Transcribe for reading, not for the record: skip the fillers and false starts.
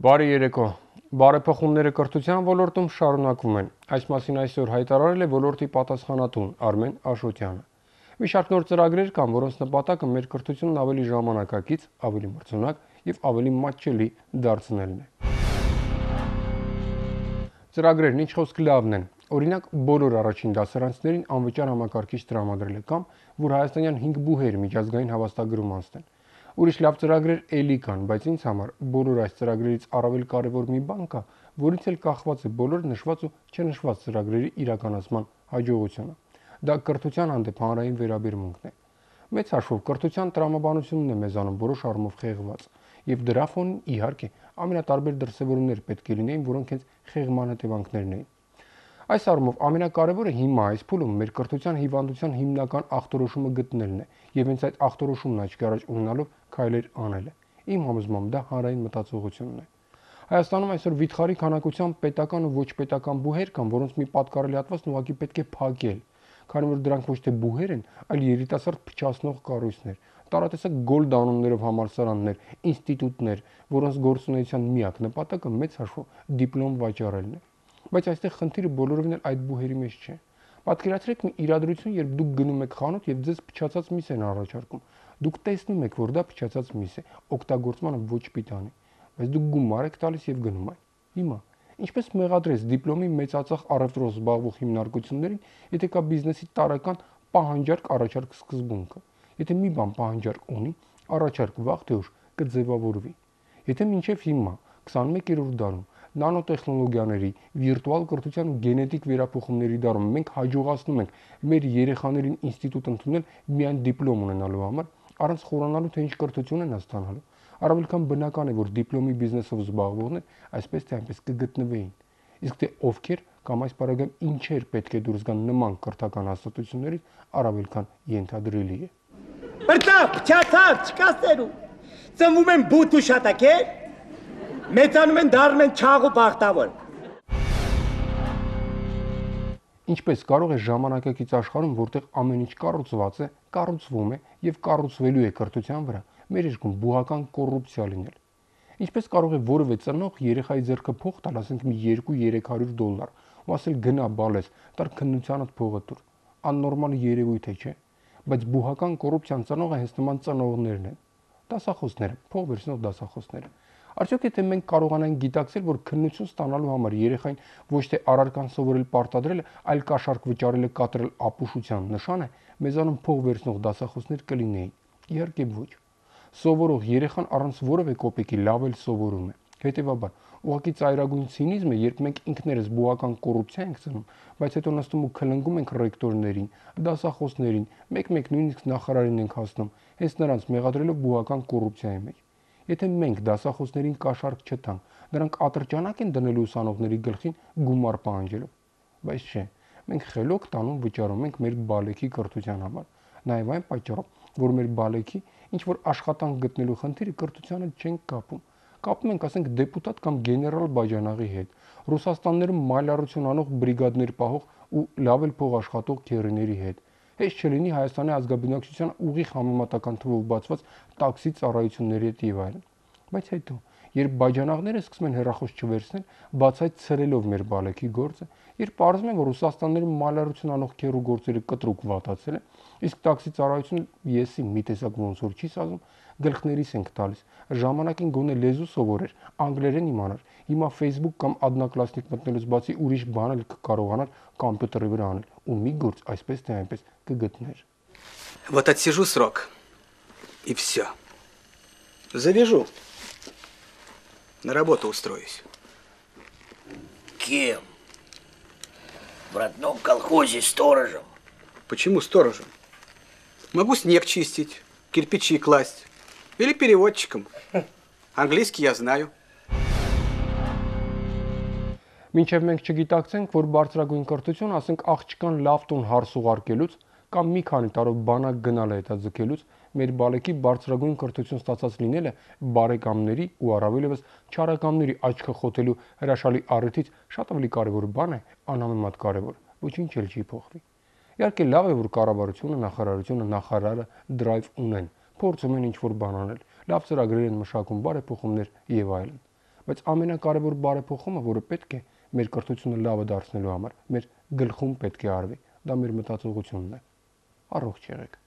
Բարի երեկո։ Բարեփոխումները կրթության ոլորտում շարունակվում են։ Այս մասին այսօր հայտարարել է ոլորտի պատասխանատուն Արմեն Աշոտյանը։ Մի շարք նոր ծրագրեր կան, որոնց նպատակը մեր կրթությունն ավելի ժամանակակից, ավելի մրցունակ եւ ավելի մատչելի դարձնելն է։ Ծրագրերն ինչ խոսք լավն են։ Օրինակ, բոլոր առաջին դասարանցիներին անվճար համակարգիչ տրամադրել է կամ որ հայաստանյան 5 բուհեր միջազգային հավաստագրում անցնեն։ Ուրիշ լավ ծրագրեր էլի կան, բայց ինձ համար բոլոր այս ծրագրերից առավել կարևոր մի բան կա, որից էլ կախված է բոլոր նշված ու չնշված ծրագրերի իրականացման հաջողությունը։ Դա կրթության հանդեպ հանրային վերաբերմունքն է։ Մեծ հաշվով կրթության տրամաբանությունն է մեզանում որոշ առումով խեղված, եւ դրա ֆոնին իհարկե ամենատարբեր դրսևորումներ պետք է լինեին, որոնք հենց խեղման հետևանքներն էին։ Այս առումով ամենակարևորը հիմա այս փուլում մեր կրթության հիվանդության հիմնական ախտորոշումը գտնելն է եւ հենց այդ ախտորոշումն աչքի առաջ ունենալով քայլեր անելը։ Իմ համոզմամբ դա հանրային մտածողությունն է։ Հայաստանում այսօր վիթխարի քանակությամբ պետական ու ոչ պետական բուհեր կան, որոնց մի պատկառելի հատվածն ուղղակի պետք է փակել, քանի որ դրանք ոչ թե բուհեր են, այլ երիտասարդ փչացնող կառույցներ, տարատեսակ գոլդ անուններով համալսարաններ, ինստիտուտներ, որոնց գործունեության միակ նպատակը մեծ հաշվով դիպլոմ վաճառելն է։ Բայց այստեղ խնդիրը բոլորովին էլ այդ բուհերի մեջ չէ։ Պատկերացրեք մի իրադրություն, երբ դուք գնում եք խանութ եւ ձեզ փչացած միս են առաջարկում։ Դուք տեսնում եք, որ դա փչացած միս է, օգտագործմանը ոչ պիտանի, բայց դուք գումար եք տալիս եւ գնում եք։ Հիմա ինչպես մեղադրես դիպլոմի մեծածախ առևտրով զբաղվող հիմնարկություններին, եթե կա բիզնեսի տարեկան պահանջարկ առաջարկ սկզբունքը։ Եթե մի բան պահանջարկ ունի, առաջարկ վաղ թե ուշ կձևավորվի։ Եթե մինչև հիմա 21-րդ դարում նանոտեխնոլոգիաների, վիրտուալ կրթության ու գենետիկ վերափոխումների դարում մենք հաջողացնում ենք մեր երեխաներին ինստիտուտ ընդունել միայն դիպլոմ ունենալու համար, առանց խորանալու թե ինչ կրթություն են ստանալու։ Առավել քան բնական է, որ դիպլոմի բիզնեսով զբաղվողներ այսպես թե այնպես կգտնվեին։ Իսկ թե ովքեր կամ այս պարագայում ինչեր պետք է դուրս գան նման կրթական հաստատություններից, առավել քան ենթադրելի է։ Բրտավ, չացած, չկասերու։ Ծնվում են բութ ու շատակեր, մեծանում են դառնում են չաղ ու բախտավոր։ Ինչպես կարող է ժամանակակից աշխարհում, որտեղ ամեն ինչ կառուցված է, կառուցվում է եւ կառուցվելու է կրթության վրա, մեր երկրում բուհական կոռուպցիա լինել։ Ինչպես կարող է որևէ ծնող երեխայի ձեռքը փող տալ, ասենք մի 2-300 $, ու ասել գնա բալես, տար քննությանդ փողը տուր։ Աննորմալ երևույթ է, չէ՞։ Բայց բուհական կոռուպցիան ծնողը հենց նման ծնողներն են։ Դասախոսները, փող վերցնող դասախոսները։ Արդյոք եթե մենք կարողանանք գիտակցել, որ քննություն ստանալու համար երեխային ոչ թե առարկան սովորել պարտադրելը, այլ կաշառք վճարելը կատարել ապուշության նշան է, մեզանում փող վերցնող դասախոսներ կլինեին։ Իհարկե ոչ։ Սովորող երեխան առանց որևէ կոպեկի լավ էլ սովորում է։ Հետևաբար, ուղղակի ծայրագույն ցինիզմ է, երբ մենք ինքներս բուհական կոռուպցիա ենք ծնում, բայց հետո նստում ու քլնգում ենք ռեկտորներին, դասախոսներին, մեկ-մեկ նույնիսկ նախարարին ենք հասնում, հենց նրանց մեղադրելով բուհական կոռուպցիայի մեջ։ Եթե մենք դասախոսներին կաշառք չտանք, նրանք ատրճանակ են դնելու ուսանողների գլխին գումար պահանջելով։ Բայց չէ, մենք խելոք տանում վճարում ենք մեր բալեքի կրթության համար, նաև այն պատճառով, որ մեր բալեքի ինչ որ աշխատանք գտնելու խնդիրը կրթությանը չենք կապում։ Կապում ենք, ասենք, դեպուտատ կամ գեներալ բաժանաղի հետ, Ռուսաստաններում մայլարություն անող բրիգադներ պահող ու լավ էլ փող աշխատող քերիների հետ։ Հեչ չլինի Հայաստանի ազգաբնակչության ուղիղ համեմատական թվով բացված տաքսի ծառայությունների հետ եւ այլն։ Բայց հետո, երբ բաժանաղները սկսում են հեռախոս չվերցնել, բացայց ցրելով մեր բալեքի գործը, երբ պարզվում է, որ Ռուսաստաններում մալարություն անող քերու գործերը կտրուկ վատացել են, իսկ տաքսի ծառայությունը եսի մի տեսակ ոնց որ չի սազում, գլխներիս ենք տալիս։ Ժամանակին գոնե լեզու սովորեր, անգլերեն իմանար, հիմա Facebook կամ Одноклассник մտնելուց բացի ուրիշ բան էլ կկարողանար կոմպյուտերի վրա անել, ու մի գործ այսպես թե այնպես կգտներ։ Вот отсижу срок, и все. Завяжу. На работу устроюсь. Кем? В родном колхозе сторожем. Почему сторожем? Могу снег чистить, кирпичи класть. Или переводчиком. Английский я знаю. Մինչև մենք չգիտակցենք, որ բարձրագույն կրթություն, ասենք աղջկան լավ տուն հարս ուղարկելուց կամ մի քանի տարով բանակ գնալ հետաձգելուց մեր բալեկի բարձրագույն կրթություն ստացած լինելը բարեկամների ու առավելևս չարակամների աչքը խոթելու հրաշալի առիթից շատ ավելի կարևոր բան է, անհամեմատ կարևոր, ոչինչ էլ չի փոխվի։ Իհարկե լավ է, որ կառավարությունը, նախարարությունը, նախարարը դրայվ ունեն, փորձում են ինչ-որ բան անել, լավ ծրագրեր են մշակում, բարեփոխումներ եւ այլն։ բայց ամենակարևոր բարեփոխումը, որը պետք է մեր կրթությունը լավը դարձնելու համար, մեր գլխում պետք է արվի, դա մեր մտածողությունն է։ Առողջ եղեք։